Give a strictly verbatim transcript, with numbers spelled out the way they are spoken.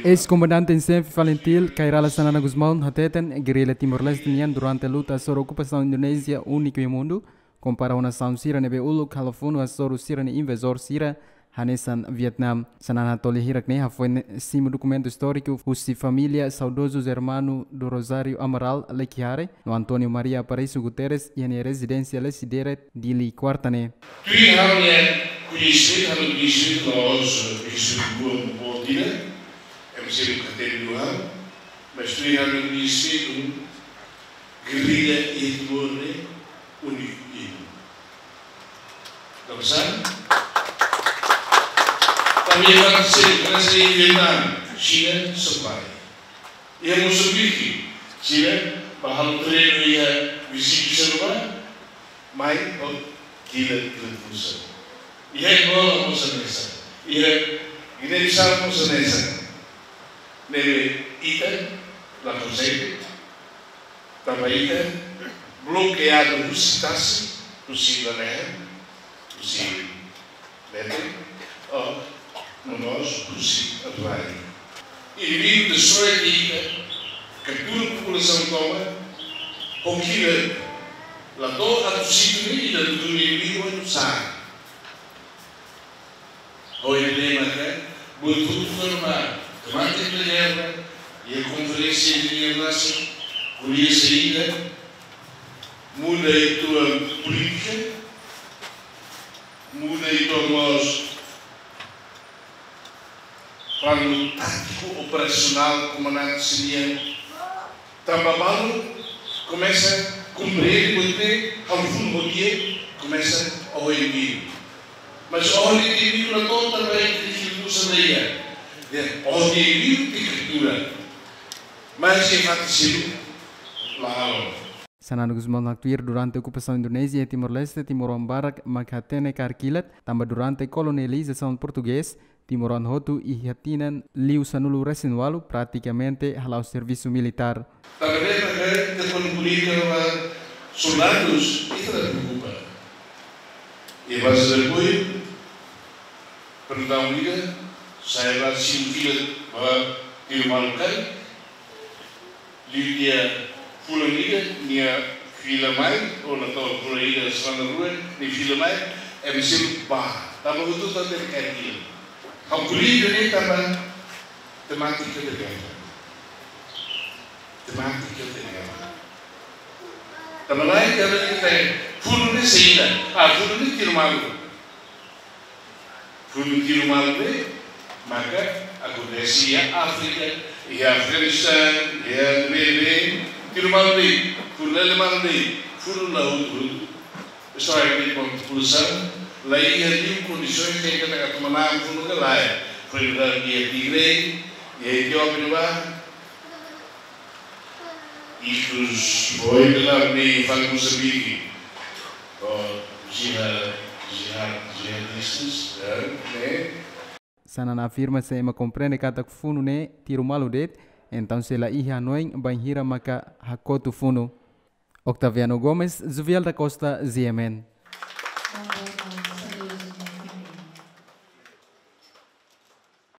Eis-komandante em xefe Falintil, Kay Rala Xanana Gusmão, hateten, gerrilla Timor-Leste nian durante luta hasoru okupasaun Indonézia úniku iha mundu, kompara ho nasaun sira ne'ebé uluk halo funu hasoru sira-nia invazór sira, hanesan Vietnam. Xanana hato'o lia hirak-ne'e hafoin simu dokumentu istóriku husi família saudozu Germano do Rosário Amaral Lequiare no António Maria Aparício Guterres iha nia rezidénsia Lecidere, Dili, kuarta ne'e. Tuir ha'u-nia koñesimentu, ha'u-nia koñesimentu la'ós koñesimentu boot ida, M C B K T B do ha'u, mas tuir ha'u-nia koñesimentu, gerrilla iha Timor ne'e úniku iha mundu. Tanba sá? Tanba iha fatin seluk, hanesan iha Vietnam, Xina só bá. Iha Mosambike, Xina bá halo treinu iha viziñu seluk, mai ho kilat, kilat busa. Iha Angola mós hanesan. Iha Guiné-Bissau mós hanesan. Ne'ebé ita la konsege, tanba ita blokeadu husi tasi, husi lalehan, husi leten, ou no mós husi atuál. Inimigu destrói ita, kaptura populasaun tomak, ho kilat, la to'o atu situ ne'e ita dudu inimigu atu sá. Ho ida-ne'e maka, buat hotu-hotu ne'ebé temátika da gerra, iha konferénsia de Liga Nasaun, ko'alia saida, muda ita-nia polítika, muda ita-nia mós planu tátiku operasionál komandante sira-nian. Tanba balu komesa komprende buat ne'e, halo funu ho di'ak, komesa oho inimigu. Mas oho inimigu la to'o tanba ita-nia kilat busa la iha. Dehan oho inimigu ita kaptura. Mas iha fatin seluk la halo. Xanana Gusmão haktuir durante okupasaun Indonézia iha Timor-Leste, timoroan barak mak hatene kaer kilat, tanba durante kolonizasaun portugés, timoroan hotu iha tinan liu sanulu resin walu pratikamente hala'o servisu militár. Tanba ne'e mak ita kuandu ko'alia ba soldadus, ita la preokupa. Iha baze de apoiu, pergunta ida, sa'e ba simu kilat ba tiru malu karik, liu tiha fulan ida, nia fila mai, ou la to'o fulan ida, semana rua, nia fila mai, M C B bá, tanba hotu-hotu hatene kaer kilat. Ha'u ko'alia ne'e tanba temátika da gerra. Temátika da gerra. Tanba lae, tanba ita funu ne'e saida, ah, funu ne'e tiru malu. Funu tiru malu ne'e maka akontese iha Áfrika, iha Afeganistán, iha ne'ebé, tiru malu ne'e, funu lele malu ne'e, funu la hotu-hotu. Só é que populasaun la iha liu kondisoens de que atu manán funu ka lae. Foin dadaun iha Tigre, iha Etiópia ne'ebá, ikus foin dadaun ne'e fali Mosambike. Ho jihad, jihad, jihadistas, eh, ne'e. Xanana afirma se ema komprende katak funu ne'e tiru malu de'it, entaun sei la iha hanoin bainhira maka hakotu funu. Octaviano Gomes, Jovial da Costa, G M N.